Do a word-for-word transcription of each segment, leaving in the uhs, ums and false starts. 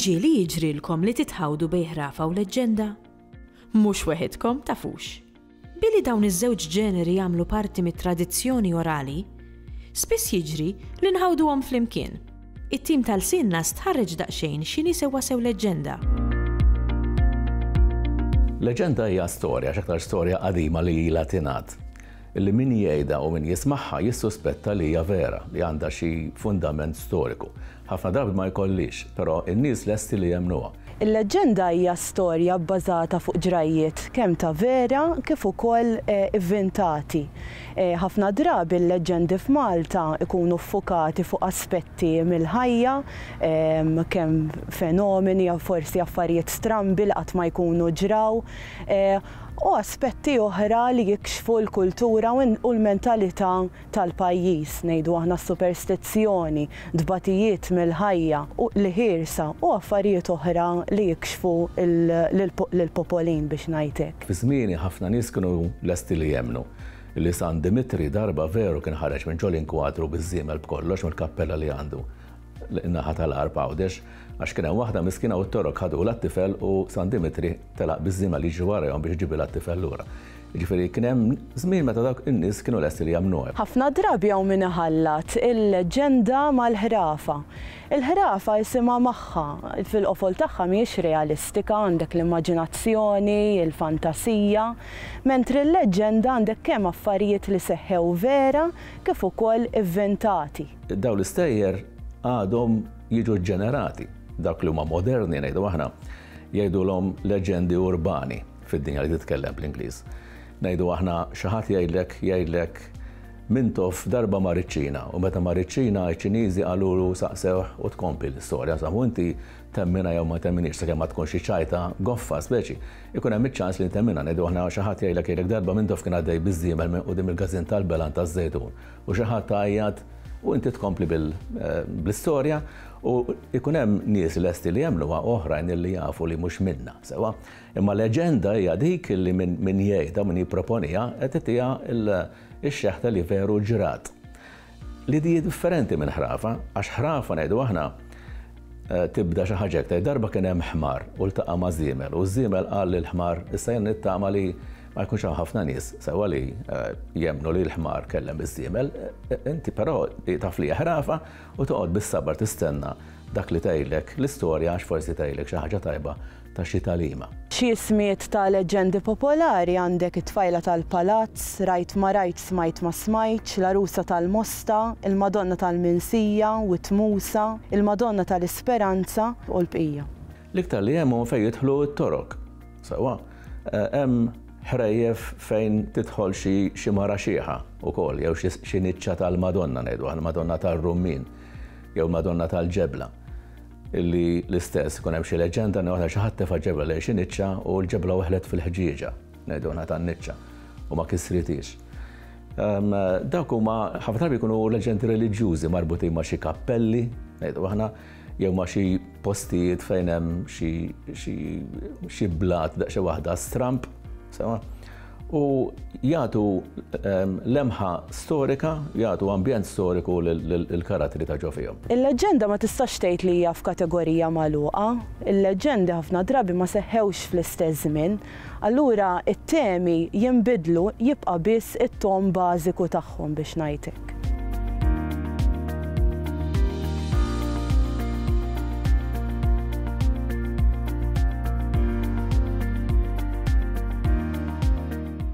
Ġieli jiġrilkom li titħawdu bejn ħrafa u leġġenda? Mhux weħidkom tafux. Billi dawn iż-żewġ ġeneri jagħmlu parti mit-tradizzjoni orali, spiss jiġri li nħawduhom flimkien. It-tim tal-Sinna stħarreġ daqsxejn x'inhi sewwasew leġġenda. Leġenda hija storja, x'aktar storja qadima li ilha tingħad. Illi min jgħidha u min jismagħha jissuspetta li hija vera, li għandha xi fundament storiku. Ħafna drabi ma jkollix, però in-nies lesti li jemmnuha. Il-leġġenda hija storja bbażata fuq ġrajjiet kemm ta' vera kif ukoll ivvintati. Ħafna drabi l-leġġendi f'Malta ikunu ffukati fuq aspetti mill-ħajja, kemm fenomeni, forsi affarijiet strambi li qatt ma jkunu ġraw, u aspetti oħra li jikxfu l-kultura u l-mentalità tal-pajjiż, ngħidu aħna s-superstizzjoni, tbatijiet mill-ħajja, u l-ħirsa u affarijiet oħra li jikxfu lill-popolin biex ngħid hekk. Fi żmieni ħafna nies kienu lesti li jemmnu li San Dimitri darba veru kien ħareġ minn ġol inkwadru biż-żiemel b'kollox mill-kappella li għandu in-naħa tal-Għarb Għawdex, għax kien hemm waħda miskina u t-torok ħadulha t-tifel u San Dimitri telaq biż-żiemel jiġri warajhom biex iġibilha t-tifel lura. Jiġifieri kien hemm żmien meta dawk in-nies kienu lesti li jagħmluha. Ħafna drabi hawn min iħallat il-leġġenda mal-ħrafa. Il-ħrafa isimha magħha, fil-qofol tagħha mhijiex realistika, għandek l-immaġinazzjoni, il-fantasija, mentri l-leġġenda għandek kemm affarijiet li seħħew vera kif ukoll ivventati. Dawn l-istejjer għadhom jiġu ġenerati. Dawk li huma moderni ngħidu aħna jgħidulhom leġendi urbani fid-dinja li titkellem bl-Ingliż. Ngħidu aħna xi ħadd jgħidlek jgħidlek Mintoff darba mar iċ-Ċina u meta mar iċ-Ċina iċ-Ċiniżi qalulu saqsewh u tkompli l-istorja. Insomma, inti temminha jew ma temminix sakemm ma tkunx xi ċajta goffa speċi. Ikun hemm iċ-ċans li temminha. Ngħidu aħna xi ħadd jgħidlek jgħidlek darba Mintoff kien għaddej biż-żiemel minn quddiem il-każin tal-Belan taż-Żejtun u xi ħadd għajjat u inti tkompli bl-istorja u ikun hemm nies lesti li jemmnuha oħrajn li jafu li mhux minna, sewwa. Imma leġenda hija dik li min jgħidha, min jipproponiha, qed titiha x-xeħta li veru ġrat. Li di differenti minn ħrafa, għax ħrafa ngħidu aħna tibda xi ħaġa hekk, darba kien hemm ħmar u ltaqa' ma' żiemel u ż-żiemel qal lil ħmar issa jien nittama li ma jkunx hawn ħafna nies sewwa li jemmnu li l-ħmar kellem iż-żiemel, inti però taf li ħrafa u toqgħod bis-sabar tistenna dak li tgħidlek l-istorja għax forsi tgħidlek xi ħaġa tajba ta' xi tagħlima. Xi ismijiet ta' leġġendi popolari għandek it-tfajla tal-palazz, rajt ma rajt smajt ma smajtx, l-għarusa tal-Mosta, il-Madonna tal-Minsija u t-Musa, il-Madonna tal-Isperanza u l-bqija. L-iktar li hemm fejn jidħlu t-torok. Sewwa, hemm ħrejjef fejn tidħol xi mara xieħa wkoll jew xi niċċa tal-Madonna ngħidu aħna Madonna tar-Rummin jew Madonna tal-Ġebla. Illi l-istess ikun hemm xi leġġenda li waħda xi ħadd tefa' ġebla lejn xi niċċa u l-ġebla weħlet fil-ħġieġa, ngħidu aħna tan-niċċa u ma kisritix. Dawk huma ħafna drabi jkunu leġendi reliġjużi marbutin ma' xi kappelli, ngħidu aħna, jew ma' xi postijiet fejn hemm xi blat daqsxejn waħda stramp, sewwa. U jagħtu lemħa storika, jagħtu ambjent storiku lill-karattri ta' ġo fihom. Il-leġġenda ma tistax tgħid li hija f'kategorija magħluqa. Il-leġġendi ħafna drabi ma seħħewx fl-istess żmien. Allura it-temi jinbidlu, jibqa' biss it-tom bażiku tagħhom biex ngħid hekk.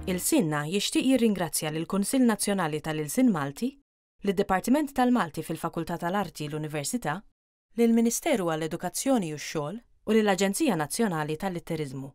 Il-Sinna jixtieq jirringrazzja lill-Kunsill Nazzjonali tal-Ilsien Malti, lid-Dipartiment tal-Malti fil-Fakultà tal-Arti l-Università, lill-Ministeru għall-Edukazzjoni u x-Xogħol u lill-Aġenzija Nazzjonali tal-Litteriżmu.